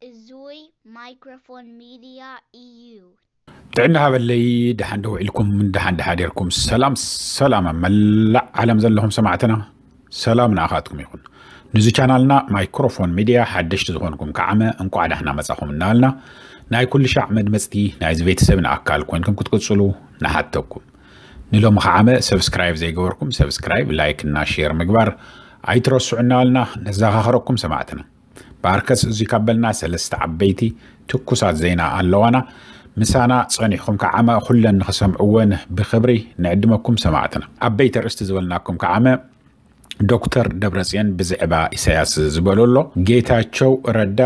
እዙይ ማይክሮፎን ሚድያ እዩ። ጥዕና ሃበለይ፣ ደሓን ዶ ውዒልኩም? ደሓን ደሓ ዴርኩም? ሰላም ሰላም፣ ኣብ መላእ ዓለም ዘለኹም ሰማዕትና ሰላም ንኣኻትኩም ይኹን። ንዚ ቻናልና ማይክሮፎን ሚድያ ሓደሽቲ ዝኾንኩም ከዓመ እንቋዕ ዳሕና መጻኹም እናበልና፣ ናይ ኩሉ ሻዕ መድመጽቲ ናይዚ ቤተሰብን ኣካል ኮይንኩም ክትቅጽሉ ንሓተኩም። ንሎሚ ከዓመ ሰብስክራይብ ዘይገበርኩም ሰብስክራይብ፣ ላይክ እና ሼር ምግባር ኣይትረስዑ እናበልና ነዘኻኽረኩም ሰማዕትና። በኣርከስ እዚ ካብ በልና ሰለስተ ዓበይቲ ትኩሳት ዜና ኣለዋና። ምሳና ጸኒሕኩም ከዓመ ኩለን ንኽሰምዕወን ብኽብሪ ንዕድመኩም ሰማዕትና። ዓበይቲ ኣርእስቲ ዝበልናኩም ከዓመ ዶክተር ደብረጽዮን ብዝዕባ ኢሳያስ ዝበሎ ኣሎ። ጌታቸው ረዳ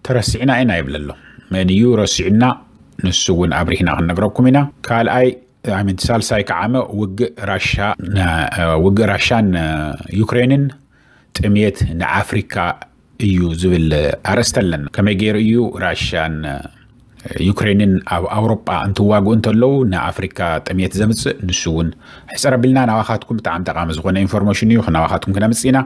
ተረሲዕና ኢና ይብል ኣሎ። መን እዩ ረሲዑና? ንሱ እውን ኣብሪህና ክንነግረኩም ኢና። ካልኣይ ኣይ ሚን ሳልሳይ ከዓመ ውግእ ራሻ ን- ውግእ ራሻን ዩክሬንን ጥምየት ንኣፍሪካ እዩ ዝብል ኣርእስቲ ኣለና። ከመይ ገይሩ እዩ ራሻን ዩክሬንን ኣብ ኣውሮጳ እንትዋግኡ እንተለዉ ንኣፍሪካ ጥምየት ዘምፅእ? ንሱ እውን ሕፅር ኣቢልና ናባኻትኩም ብጣዕሚ ጠቃሚ ዝኾነ ኢንፎርሜሽን እዩ ናባኻትኩም ክነምፅእ ኢና።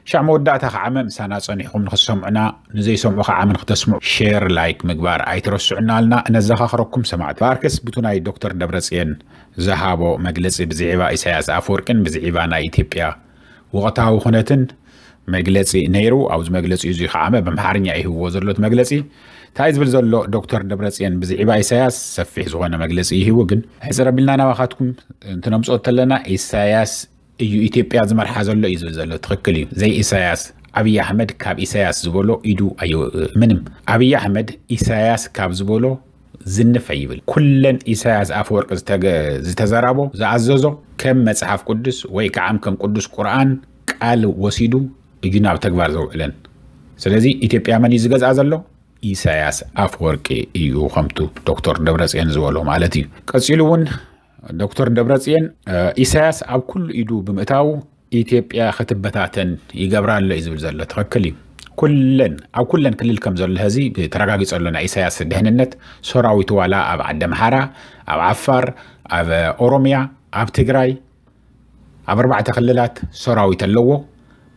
ሻዕ መወዳእታ ከዓመ ምሳና ጸኒሕኩም ንኽትሰምዑና፣ ንዘይሰምዑ ከዓመ ንኽተስምዑ ሼር ላይክ ምግባር ኣይትረስዑ እናበልና ነዘኻኽረኩም ሰማዕቲ። በኣርከስ ብቱ ናይ ዶክተር ደብረጽዮን ዝሃቦ መግለጺ ብዝዒባ ኢሳያስ ኣፈወርቅን ብዝዒባ ናይ ኢትዮጵያ ወቕታዊ ኩነትን መግለጺ ነይሩ። ኣብዚ መግለጺ እዚ ከዓመ ብኣምሓርኛ እዩ ሂብዎ ዘሎ እቲ መግለጺ። እንታይ ዝብል ዘሎ ዶክተር ደብረጽዮን ብዝዒባ ኢሳያስ ሰፊሕ ዝኾነ መግለጺ ይህቡ፣ ግን ሕፅር ኣቢልና ናባኻትኩም እንትነምፅኦ ተለና ኢሳያስ እዩ ኢትዮጵያ ዝመርሓ ዘሎ እዩ ዝብል ዘሎ። ትኽክል እዩ። ዘይ ኢሳያስ ኣብይ ኣሕመድ ካብ ኢሳያስ ዝበሎ ኢዱ ኣየ ምንም። ኣብይ ኣሕመድ ኢሳያስ ካብ ዝበሎ ዝንፍ ኣይብል። ኩለን ኢሳያስ ኣፈወርቂ ዝተገ- ዝተዘራቦ ዝኣዘዞ ከም መጽሓፍ ቅዱስ ወይ ከዓ ከም ቅዱስ ቁርኣን ቃል ወሲዱ እዩ ናብ ተግባር ዘውዕለን። ስለዚ ኢትዮጵያ መን እዩ ዝገዝኣ ዘሎ? ኢሳያስ ኣፈወርቂ እዩ፣ ከምቱ ዶክተር ደብረጽዮን ዝበሎ ማለት እዩ። ቀጺሉ እውን ዶክተር ደብረጽዮን ኢሳያስ ኣብ ኩሉ ኢዱ ብምእታው ኢትዮጵያ ክትበታተን ይገብራ ኣሎ እዩ ዝብል ዘሎ። ትኽክል እዩ። ኩለን ኣብ ኩለን ክልል ከም ዘሎ ሕዚ ተረጋጊጸ ኣሎ። ናይ ኢሳያስ ድሕንነት ሰራዊት ዋላ ኣብ ዓዲ ኣምሓራ፣ ኣብ ዓፋር፣ ኣብ ኦሮሚያ፣ ኣብ ትግራይ ኣብ ኣርባዕተ ክልላት ሰራዊት ኣለዎ።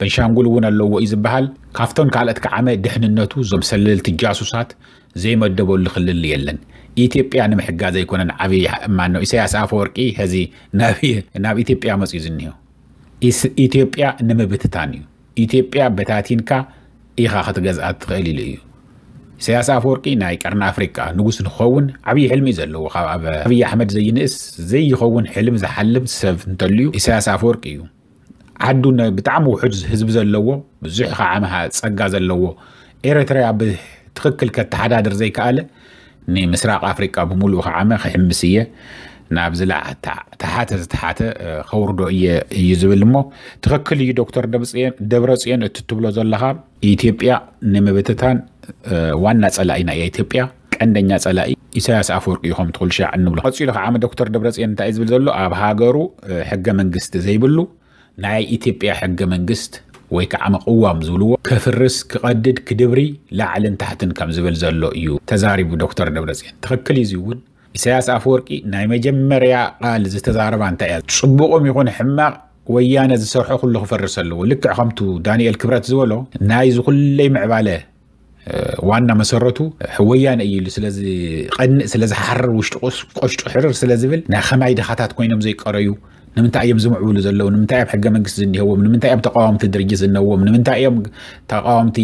በንሻንጉል እውን ኣለዎ እዩ ዝበሃል። ካብቶም ካልኦት ከዓመ ድሕንነቱ እዞም ሰለልቲ ጃሱሳት ዘይመደበሉ ክልል የለን። ኢትዮጵያ ንምሕጋዝ ኣይኮነን ዓብዪ ማነው ኢሳያስ ኣፈወርቂ ሕዚ ናብ ናብ ኢትዮጵያ መፅዩ ዝኒሆ። ኢስ- ኢትዮጵያ ንምብትታን እዩ። ኢትዮጵያ በታቲንካ ኢኻ ክትገዝኣ ትኽእል ኢሉ እዩ። ኢሳያስ ኣፈወርቂ ናይ ቀርኒ ኣፍሪቃ ንጉስ ንክኸውን ዓብዪ ሕልሚ እዩ ዘለዎ። ካብ ኣብ ኣብይ ኣሕመድ ዘይንእስ ዘይኸውን ሕልም ዝሓልም ሰብ እንተልዩ ኢሳያስ ኣፈወርቂ እዩ። ዓዱ ነ- ብጣዕሚ ውሑድ ህዝቢ ዘለዎ ብዙሕ ከዓመ ጸጋ ዘለዎ ኤርትራ ብትኽክል ከተሓዳድር ዘይከኣለ ንምስራቕ ኣፍሪቃ ብምሉኡ ከዓመ ክሕምስ እየ ናብ ዝለዓ ተሓተ ዝተሓተ ከውርዶ እየ እዩ ዝብል። እሞ ትኽክል እዩ ዶክተር ደብረፅዮን እቲ ትብሎ ዘለኻ። ኢትዮጵያ ንምብትታን ዋና ፀላኢ ናይ ኢትዮጵያ ቀንደኛ ፀላኢ ኢሳያስ ኣፈወርቂ እዩ ከም ትኹል ሻዕ እንብሎ። ቀፂሉ ከዓ ዶክተር ደብረፅዮን እንታይ ዝብል ዘሎ ኣብ ሃገሩ ሕገ መንግስቲ ዘይብሉ ናይ ኢትዮጵያ ሕገ መንግስት ወይ ከዓ መቅዋም ዝብልዎ ከፍርስ ክቐድድ ክድብሪ ላዕልን ታሕትን ከም ዝብል ዘሎ እዩ ተዛሪቡ ዶክተር ደብረፅዮን። ትኽክል እዩ። እዚ እውን ኢሳያስ ኣፈወርቂ ናይ መጀመርያ ቃል ዝተዛረባ እንታይ እያ? ፅቡቕም ይኹን ሕማቕ ወያነ ዝሰርሖ ኩሉ ክፈርስ ኣለዎ። ልክዕ ከምቱ ዳንኤል ክብረት ዝበሎ ናይዚ ኩለይ ምዕባለ ዋና መሰረቱ ወያነ እዩ ኢሉ ስለዝቐንእ ስለዝሓርር ውሽጢ ቆሽጡ ሕርር ስለዝብል ናይ ከማይ ድኻታት ኮይኖም ዘይቀረዩ ንምንታይ እዮም ዝምዕብሉ ዘለዉ? ንምንታይ እዮም ሕገ መንግስቲ ዝኒሀዎም? ንምንታይ እዮም ተቃዋምቲ ድርጅት ዝነዎም? ንምንታይ እዮም ተቃዋምቲ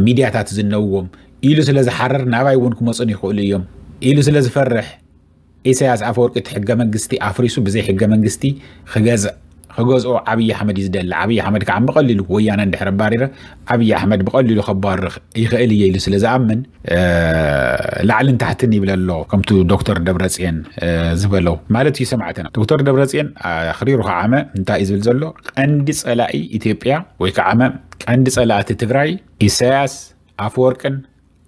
ሚድያታት ዝነዎም? ኢሉ ስለዝሓርር ናባይ እውን ክመፁን ይኽእሉ እዮም ኢሉ ስለዝፈርሕ ኢሳያስ ኣፈወርቂ እቲ ሕገ መንግስቲ ኣፍሪሱ ብዘይ ሕገ መንግስቲ ክገዝእ ክገዝኦ ዓብዪ ኣሕመድ እዩ ዝደሊ። ዓብዪ ኣሕመድ ከዓ ብቐሊሉ ወያነ እንድሕር ኣባሪረ ዓብዪ ኣሕመድ ብቐሊሉ ከባርር ይኽእል እየ ኢሉ ስለ ዝኣምን ላዕልን ታሕትን ይብል ኣሎ። ከምቱ ዶክተር ደብረፅየን ዝበለው ማለት እዩ። ሰማዕትና ዶክተር ደብረፅየን ኣኽሪሩ ከዓመ እንታይ እዩ ዝብል ዘሎ? ቀንዲ ፀላኢ ኢትዮጵያ ወይ ከዓመ ቀንዲ ፀላእቲ ትግራይ ኢሳያስ ኣፈወርቅን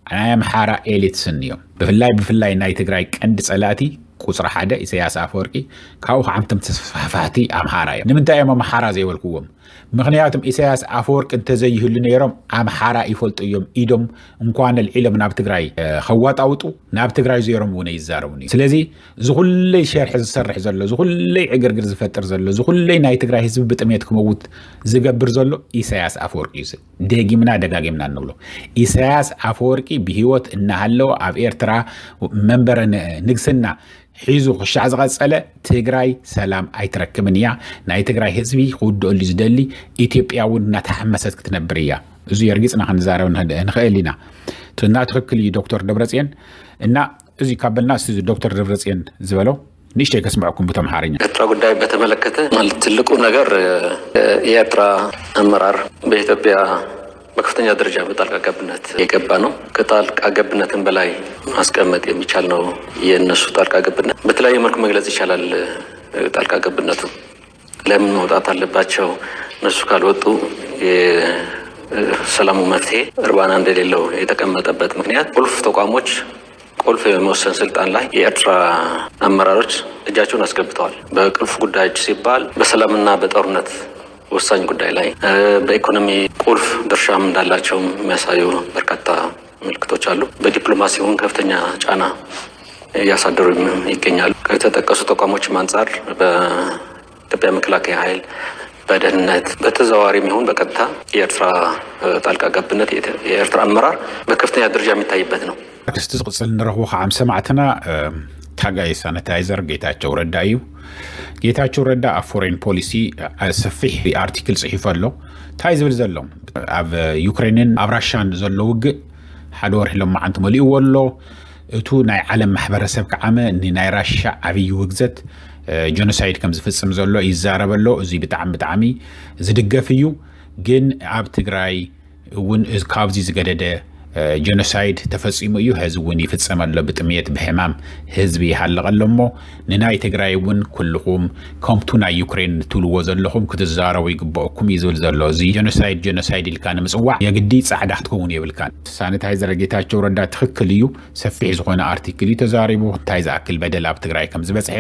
ናይ ኣምሓራ ኤሊትስን እዮም። ብፍላይ ብፍላይ ናይ ትግራይ ቀንዲ ፀላእቲ ቁፅሪ ሓደ ኢሳያስ ኣፈወርቂ ካብኡ ከዓምቶም ተስፋሕፋሕቲ ኣምሓራ እዮም። ንምንታይ እዮም ኣምሓራ ዘይበልክዎም? ምኽንያቱም ኢሳያስ ኣፈወርቂ እንተዘይህሉ ነይሮም ኣምሓራ ይፈልጡ እዮም። ኢዶም እንኳን ኣልዒሎም ናብ ትግራይ ከዋጣውጡ ናብ ትግራይ ዞሮም እውን ኣይዛረቡን እዩ። ስለዚ ዝኹለይ ሸርሒ ዝሰርሕ ዘሎ፣ ዝኹለይ ዕግርግር ዝፈጥር ዘሎ፣ ዝኹለይ ናይ ትግራይ ህዝቢ ብጥሜት ክመውት ዝገብር ዘሎ ኢሳያስ ኣፈወርቂ እዩ። ደጊምና ደጋጊምና እንብሎ ኢሳያስ ኣፈወርቂ ብህይወት እናሃለወ ኣብ ኤርትራ መንበረ ንግስና ሒዙ ክሻዕ ዝቐጸለ ትግራይ ሰላም ኣይትረክብን እያ። ናይ ትግራይ ህዝቢ ክውድኦሉ ዝደሊ ኢትዮጵያ እውን እናተሓመሰት ክትነብር እያ። እዚ የርጊጽና ክንዛረብ ንኽእል ኢና። እና ትኽክል እዩ ዶክተር ደብረጽዮን። እና እዚ ካብ በልና ዶክተር ደብረጽዮን ዝበለው ንእሽተይ ከስምዐኩም ብቶም ሓርኛ። ኤርትራ ጉዳይ በተመለከተ ማለት ትልቁ ነገር የኤርትራ አመራር በኢትዮጵያ በከፍተኛ ደረጃ በጣልቃ ገብነት የገባ ነው። ከጣልቃ ገብነትን በላይ ማስቀመጥ የሚቻል ነው። የእነሱ ጣልቃ ገብነት በተለያየ መልኩ መግለጽ ይቻላል። ጣልቃ ገብነቱ ለምን መውጣት አለባቸው? እነሱ ካልወጡ የሰላሙ መፍትሄ እርባና እንደሌለው የተቀመጠበት ምክንያት ቁልፍ ተቋሞች ቁልፍ የመወሰን ስልጣን ላይ የኤርትራ አመራሮች እጃቸውን አስገብተዋል። በቁልፍ ጉዳዮች ሲባል በሰላምና በጦርነት ወሳኝ ጉዳይ ላይ በኢኮኖሚ ቁልፍ ድርሻም እንዳላቸው የሚያሳዩ በርካታ ምልክቶች አሉ። በዲፕሎማሲውን ከፍተኛ ጫና እያሳደሩ ይገኛሉ። ከተጠቀሱ ተቋሞችም አንጻር በኢትዮጵያ መከላከያ ኃይል፣ በደህንነት በተዘዋዋሪ የሚሆን በቀጥታ የኤርትራ ጣልቃ ገብነት የኤርትራ አመራር በከፍተኛ ደረጃ የሚታይበት ነው። ክስቲ ዝቕጽል ንረኽቦ ከዓ ሰማዕትና ታጋይ ሳኒታይዘር ጌታቸው ረዳ እዩ። ጌታቸው ረዳ ኣብ ፎሬን ፖሊሲ ሰፊሕ ኣርቲክል ጽሒፉ ኣሎ። እንታይ ዝብል ዘሎ ኣብ ዩክሬንን ኣብ ራሻን ዘሎ ውግእ ሓደ ወርሒ ሎማዓንቲ መሊእዎ ኣሎ። እቱ ናይ ዓለም ማሕበረሰብ ከዓመ ንናይ ራሻ ዓብዪ ውግዘት ጀኖሳይድ ከም ዝፍጽም ዘሎ ይዛረብ ኣሎ። እዚ ብጣዕሚ ብጣዕሚ ዝድገፍ እዩ። ግን ኣብ ትግራይ እውን ካብዚ ዝገደደ ጀኖሳይድ ተፈጺሙ እዩ። ሕዚ እውን ይፍጸም ኣሎ። ብጥምየት ብሕማም ህዝቢ ይሃልቕ ኣሎ እሞ ንናይ ትግራይ እውን ኩልኹም ከምቱ ናይ ዩክሬን ትብልዎ ዘለኹም ክትዛረቡ ይግበአኩም እዩ ዝብል ዘሎ። እዚ ጀኖሳይድ ጀኖሳይድ ኢልካ ንምጽዋዕ የግዲ ጻዕዳ ክትከውን የብልካን። ሳኒታይዘር ጌታቸው ረዳ ትኽክል እዩ። ሰፊሕ ዝኾነ ኣርቲክል እዩ ተዛሪቡ። እንታይ ዝኣክል በደል ኣብ ትግራይ ከም ዝበጽሐ፣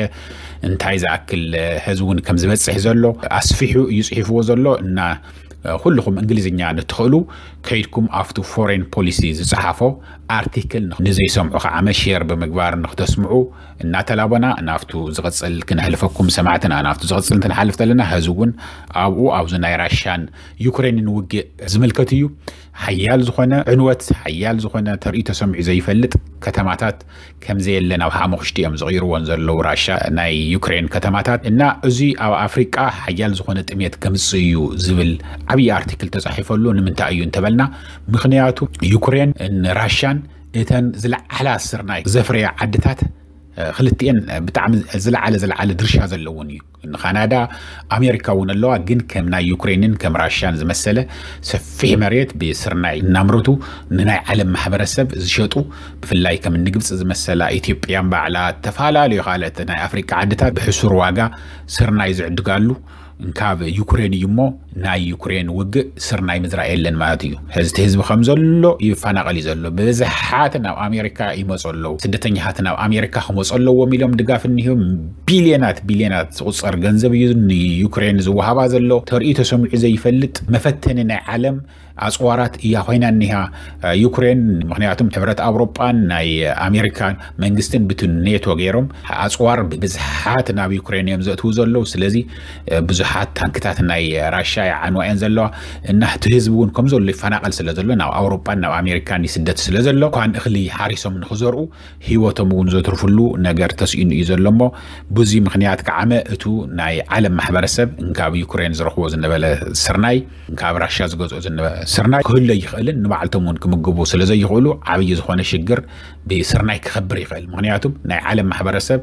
እንታይ ዝኣክል ሕዚ እውን ከም ዝበጽሕ ዘሎ ኣስፊሑ እዩ ጽሒፍዎ ዘሎ እና ኩልኹም እንግሊዝኛ ንትኽእሉ ከይድኩም ኣብቱ ፎሬን ፖሊሲ ዝጸሓፎ ኣርቲክል ንዘይሰምዑ ከዓመ ሼር ብምግባር ንክተስምዑ እናተላበና ናብቱ ዝቕጽል ክነሕልፈኩም ሰማዕትና። ናብቱ ዝቕጽል እንትንሓልፍ ተለና ሕዚ እውን ኣብኡ ኣብዚ ናይ ራሻን ዩክሬንን ውግእ ዝምልከት እዩ። ሓያል ዝኾነ ዕንወት፣ ሓያል ዝኾነ ተርእዩ ተሰሚዑ ዘይፈልጥ ከተማታት ከም ዘየለ ናብ ሓሙኽሽቲ እዮም ዝቕይርዎን ዘለዉ ራሻ ናይ ዩክሬን ከተማታት እና እዚ ኣብ ኣፍሪቃ ሓያል ዝኾነ ጥሜት ከምጽእ እዩ ዝብል ዓብዪ ኣርቲክል ተጻሒፈሉ። ንምንታይ እዩ እንተበልና ምኽንያቱ ዩክሬን ራሻን እተን ዝለዓላ ስርናይ ዘፍረያ ዓድታት ክልቲኤን ብጣዕሚ ዝለዓለ ዝለዓለ ድርሻ ዘለውን እዩ። ንካናዳ ኣሜሪካ እውን ኣለዋ። ግን ከም ናይ ዩክሬንን ከም ራሽያን ዝመሰለ ሰፊሕ መሬት ብስርናይ እናምረቱ ንናይ ዓለም ማሕበረሰብ ዝሸጡ ብፍላይ ከም ንግብፂ ዝመሰላ ኢትዮጵያን ባዕላ ተፈላለዩ ካልኦት ናይ ኣፍሪቃ ዓድታት ብሕሱር ዋጋ ስርናይ ዝዕድጋሉ እንካብ ዩክሬን እዩ እሞ ናይ ዩክሬን ውግእ ስርናይ ምዝራእ የለን ማለት እዩ። ሕዚ እቲ ህዝቢ ከም ዘሎ ይፈናቐል እዩ ዘሎ። ብብዝሓት ናብ ኣሜሪካ ይመፁ ኣለዉ። ስደተኛታት ናብ ኣሜሪካ ክመፁ ኣለዎም ኢሎም ድጋፍ እኒሆም ቢልዮናት ቢልዮናት ዝቁፀር ገንዘብ እዩ ንዩክሬን ዝወሃባ ዘሎ። ተርእዩ ተሰሚዑ ዘይፈልጥ መፈተኒ ናይ ዓለም ኣፅዋራት እያ ኮይና እኒሃ ዩክሬን። ምክንያቱም ሕብረት ኣውሮጳን ናይ ኣሜሪካን መንግስትን ብቲ ኔቶ ገይሮም ኣፅዋር ብብዝሓት ናብ ዩክሬን እዮም ዘእትዉ ዘለዉ። ስለዚ ብዙሓት ታንክታት ናይ ራሻ ይዓንዋ እየን ዘለዋ እና እቲ ህዝቢ እውን ከም ዘሎ ይፈናቀል ስለ ዘሎ ናብ ኣውሮጳን ናብ ኣሜሪካን ይስደት ስለ ዘሎ እኳን እኽሊ ሓሪሶም ንክዘርኡ ህይወቶም እውን ዘትርፍሉ ነገር ተስኢኑ እዩ ዘሎ እሞ ብዙ ምክንያት ከዓመ እቱ ናይ ዓለም ማሕበረሰብ እንካብ ዩክሬን ዝረኽቦ ዝነበለ ስርናይ ካብ ራሻ ዝገዝኦ ዝነበረ ስርናይ ክህሎ ይኽእልን ንባዕልቶም እውን ክምግቡ ስለ ዘይኽእሉ ዓብዪ ዝኾነ ሽግር ብስርናይ ክኸብር ይኽእል። ምክንያቱም ናይ ዓለም ማሕበረሰብ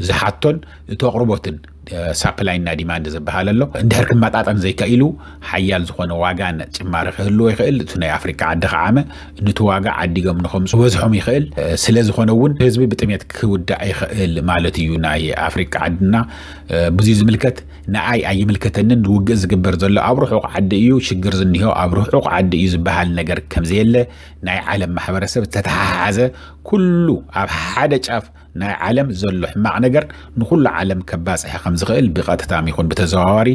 ዝሓቶን እቲ ኣቕርቦትን ሳፕላይ እና ዲማንድ ዝበሃል ኣሎ እንድሕር ክመጣጠን ዘይከኢሉ ሓያል ዝኾነ ዋጋን ጭማሪ ክህልዎ ይኽእል። እቲ ናይ ኣፍሪካ ዓዲ ከዓመ ንቲ ዋጋ ዓዲጎም ንኸምፁ በዝሖም ይኽእል። ስለ ዝኾነ እውን ህዝቢ ብጥሜት ክውዳእ ይኽእል ማለት እዩ ናይ ኣፍሪካ ዓድና። ብዙ ዝምልከት ንኣይ ኣይምልከተንን ውግእ ዝግበር ዘሎ ኣብ ርሑቕ ዓዲ እዩ ሽግር ዝኒሆ ኣብ ርሑቕ ዓዲ እዩ ዝበሃል ነገር ከምዘየለ ናይ ዓለም ማሕበረሰብ ዝተተሓሓዘ ኩሉ ኣብ ሓደ ጫፍ ናይ ዓለም ዘሎ ሕማቕ ነገር ንኹሉ ዓለም ከባጽሐ ከም ዝኽእል ብቐጥታ ይኹን ብተዘዋዋሪ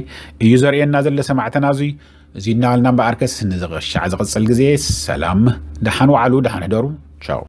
እዩ ዘርእየና ዘሎ። ሰማዕተና እዙይ እዙይ እናበልና እምበኣርከስ ንዝቕሻዕ ዝቕጽል ግዜ ሰላም፣ ደሓን ዋዕሉ፣ ደሓን ሕደሩ። ቻው።